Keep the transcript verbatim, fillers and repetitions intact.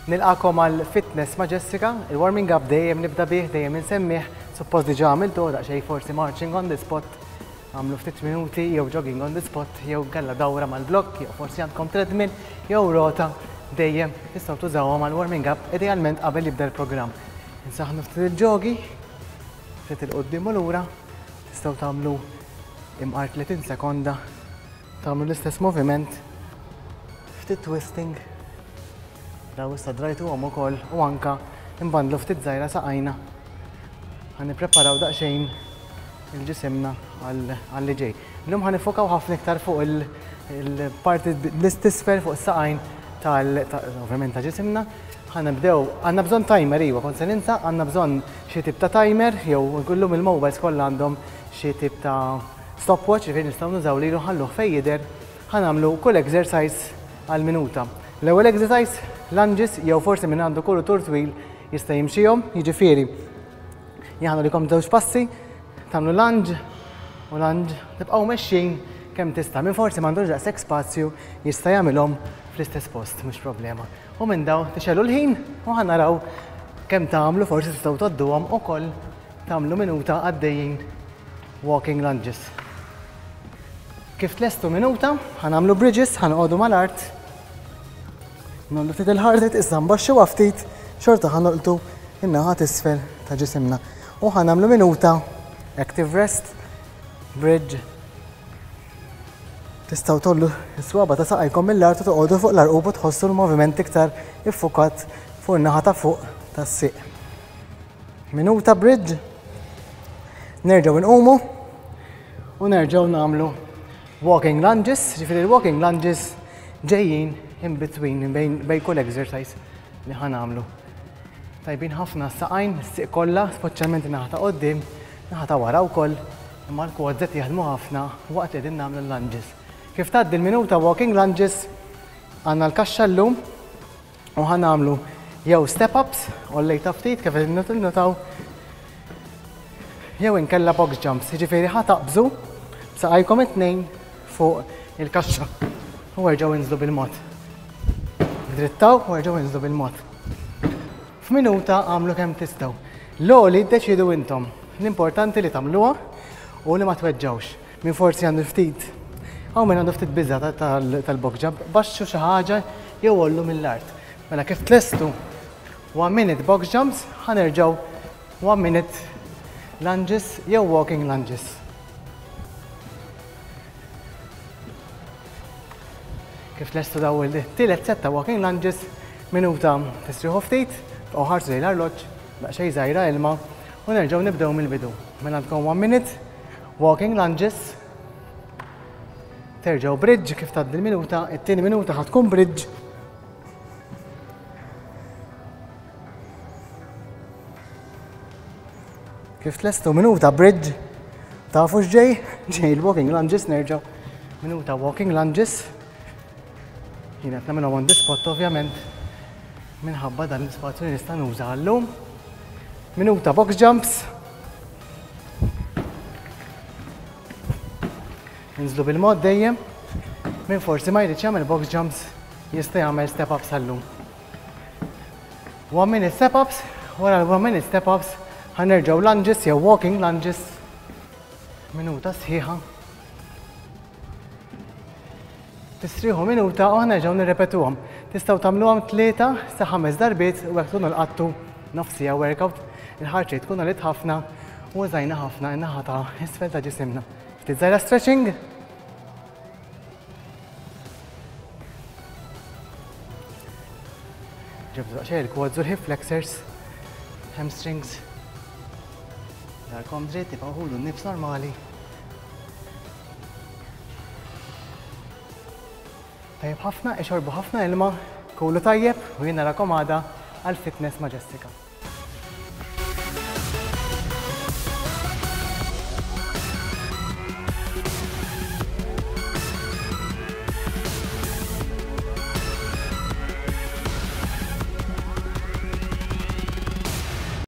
Nilqagħkom għal Fitness ma' Jessica, il-warming up dejjem nibda bih, dejjem insemmih, suppost diġà għamiltu, daqsxejn forsi marching on the spot, għamlu ftit minuti, jew jogging on the spot, jew kella dawra mal-blokk, jew forsi għandkom treadmill, jew rota, dejjem tistgħu tużawhom għal warming up, idealment qabel jibda l-programm. Insaħnu ftit il-ġogi, ftit 'il quddiem u lura, tistgħu tagħmlu imqar tletin sekonda, tagħmlu l-istess moviment, ftit twisting, daw issa drajtuhom ukoll u anka imbandlu ftit żgħira saqajna. Ħa nippreparaw daqsxejn il-ġisimna għal li ġej. Illum ħa niffokaw ħafna iktar fuq il-parti l-isfel, fuq is-saqajn tal ovvjament ta' ġisimna. Ħa nibdew, għandna bżonn timer, iwa, kont se ninsa, għandna bżonn xi tip ta' timer, jew kullum il-mobiles kollha għandhom xi tip ta' stopwatch, ġifieri nistgħu nużaw lilu, ħalluh fejn jidher, ħa nagħmlu kull exercise għal minuta. L-ewwel exercise, lunges, jew forsi min għandu kuritur twil jista' jimxihom, jiġifieri jaħnu likom żewġ passi, tagħmlu lunge u lunge, tibqgħu mexxin kemm tista'. Min forsi m'għandux daqshekk spazju jista' jagħmilhom fl-istess post, mhux problema. U minn daw tixegħlu l-ħin u ħa naraw kemm tagħmlu, forsi tistgħu tgħodduhom ukoll, tagħmlu minuta għaddejjin walking lunges. Kif tlestu minuta, ħa nagħmlu bridges, ħa noqogħdu mal-art. Ngħollu ftit il-heart rate, issa nbaxxu ftit, xorta ħa nolqtu in-naħa t'isfel ta' ġisimna. U ħa nagħmlu minuta active rest, bridge. Tistgħu tgħollu s-swaba ta' saqajkom mill-art u toqogħdu fuq l-arqub u tħossu l-moviment iktar iffukat fuq in-naħa ta' fuq tas-sieq. Minuta bridge, nerġgħu nqumu u nerġgħu nagħmlu walking lunges, ġifieri walking lunges ġejjin in between, bejn bejn kull exercise li ħa nagħmlu. Tajbin ħafna s-saqajn, s-sieq kollha, speċjalment naħa ta' quddiem, naħa ta' wara wkoll, imma l-quads qed jaħdmu ħafna waqt li qegħdin nagħmlu l-lunges. Kif tgħaddi l-minuta walking lunges, għandna l-kaxxa llum u ħa nagħmlu jew step ups, għollejta ftit kif qegħdin notaw, jew inkella box jumps, jiġifieri ħa taqbżu b'saqajkom it-tnejn fuq il-kaxxa u erġgħu inżlu bil-mod. Drittaw u erġgħu inżlu bil-mod. F'minuta għamlu kemm tistgħu. L-għoli ddeċidu intom. L-importanti li tagħmluha u li ma tweġġawx. Min forsi għandu ftit, hawn min għandu ftit biża tal-box jump, baxxu xi ħaġa jew għollu mill-art. Mela kif tlestu one minute box jumps, ħa nerġgħu one minute lunges jew walking lunges. Kif tlestu daw il-tielet set ta' walking lunges, minuta tistrieħu ftit, tibqgħu ħarsu lejn l-arloġġ, daqsxejn żgħira ilma u nerġgħu nibdew mill-bidu. Mela għandkom one minute walking lunges, terġgħu bridge kif tgħaddi l-minuta, it-tieni minuta ħa tkun bridge. Kif tlestu minuta bridge, tafu x'ġej? Ġej il-walking lunges, nerġgħu minuta walking lunges. Jien qed nagħmilhom on the spot ovvjament minħabba dan l-ispazju li nista' nuża għallum. Minuta box jumps. Ninżlu bil-mod dejjem. Min forsi ma jridx jagħmel box jumps jista' jagħmel step ups għallum. One minute step ups, wara l-one minute step ups ħa nerġgħu lunges jew walking lunges. Minuta sħiħa. Tistrieħu minuta u nerġgħu nirrepetuhom. Tistgħu tagħmluhom tlieta sa ħames darbiet u hekk tkunu lqattu nofsija workout. Il-heart rate tkun għalit ħafna u użajna ħafna in-naħa ta' isfel ta' ġisimna. Ftit żgħira stretching. Ġibdu daqsxejn il-quads u l-hip flexors, hamstrings. Darkom dritt, tibqgħu ħudu n-nifs normali. Tajjeb ħafna, ixorbu ħafna ilma, kulu tajjeb u jien narakom għada għal Fitness ma' Jessica.